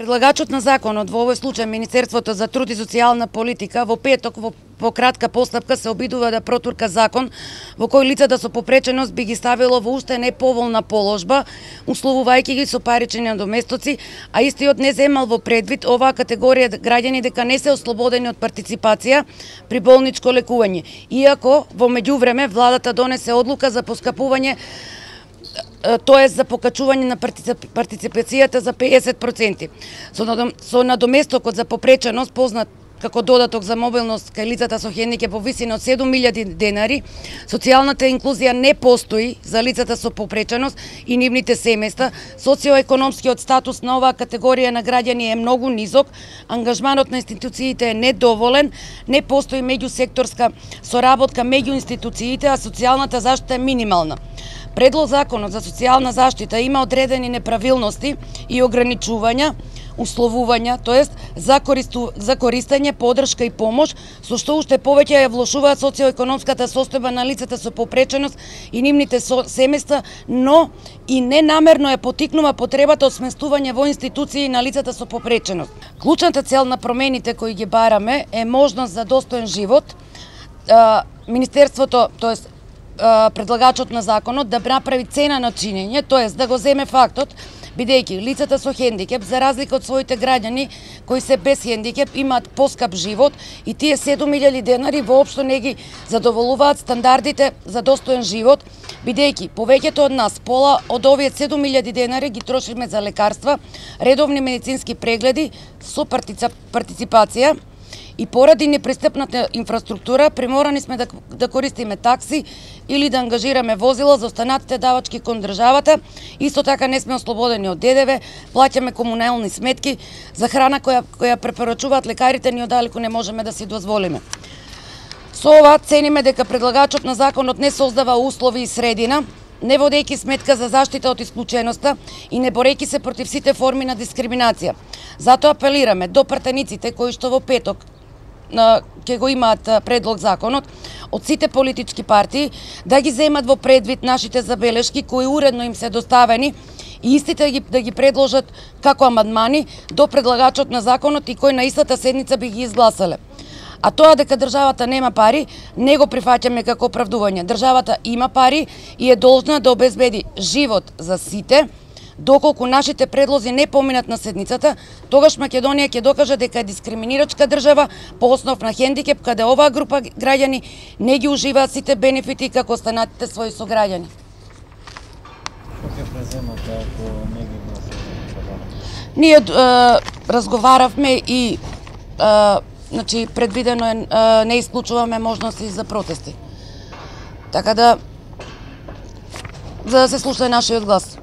Предлагачот на законот, во овој случај Министерството за труд и социјална политика, во петок по кратка постапка се обидува да протурка закон во кој лицата со попреченост би ги ставило во уште неповолна положба, условувајќи ги со парични надоместоци, а истиот не земал во предвид оваа категорија граѓани дека не се ослободени од партиципација при болничко лекување, иако во меѓувреме владата донесе одлука за поскапување, тоа за покачување на партиципацијата за 50%. Со надоместокот за попреченост, познат како додаток за мобилност кај лицата со хендикеп во висина од 7.000 денари, социјалната инклузија не постои за лицата со попреченост и нивните семејства, социоекономскиот статус на оваа категорија на граѓани е многу низок, ангажманот на институциите е недоволен, не постои меѓусекторска соработка меѓу институциите, а социјалната заштита е минимална. Предлог законот за социјална заштита има одредени неправилности и ограничувања, условувања, тоест за користење, подршка и помош, со што уште повеќе ја влошуваат социоекономската состојба на лицата со попреченост и нивните семејства, но и ненамерно ја поттикнува потребата од сместување во институции на лицата со попреченост. Клучната цел на промените кои ги бараме е можност за достоен живот. Министерството, тоест предлагачот на законот, да направи цена на чинење, тоест да го земе фактот, бидејќи лицата со хендикеп, за разлика од своите граѓани кои се без хендикеп, имаат поскап живот и тие 7.000 денари воопшто не ги задоволуваат стандардите за достоен живот, бидејќи повеќето од нас, пола од овие 7.000 денари ги трошиме за лекарства, редовни медицински прегледи со партиципација, и поради непристапната инфраструктура приморани сме да користиме такси или да ангажираме возила за останатите давачки кон државата. Исто така не сме ослободени од ДДВ, плаќаме комунални сметки за храна која препорачуваат лекарите, ни одалеку не можеме да си дозволиме. Со ова цениме дека предлагачот на законот не создава услови и средина, не водејќи сметка за заштита од исклученоста и не борејќи се против сите форми на дискриминација. Затоа апелираме до пратениците кои што во петок ќе го имаат предлог законот од сите политички партии да ги земат во предвид нашите забелешки кои уредно им се доставени и истите да ги предложат како амандмани до предлагачот на законот и кои на истата седница би ги изгласале. А тоа дека државата нема пари, не го прифаќаме како оправдување. Државата има пари и е должна да обезбеди живот за сите. Доколку нашите предлози не поминат на седницата, тогаш Македонија ќе докаже дека е дискриминирачка држава по основ на хендикеп, каде оваа група граѓани не ги уживаат сите бенефити како останатите своји сограѓани. Што ќе преземате ако не ги гласувате? Ние разговаравме и значи предвидено е, не исклучуваме можности за протести. Така да, за да се слуша нашиот глас.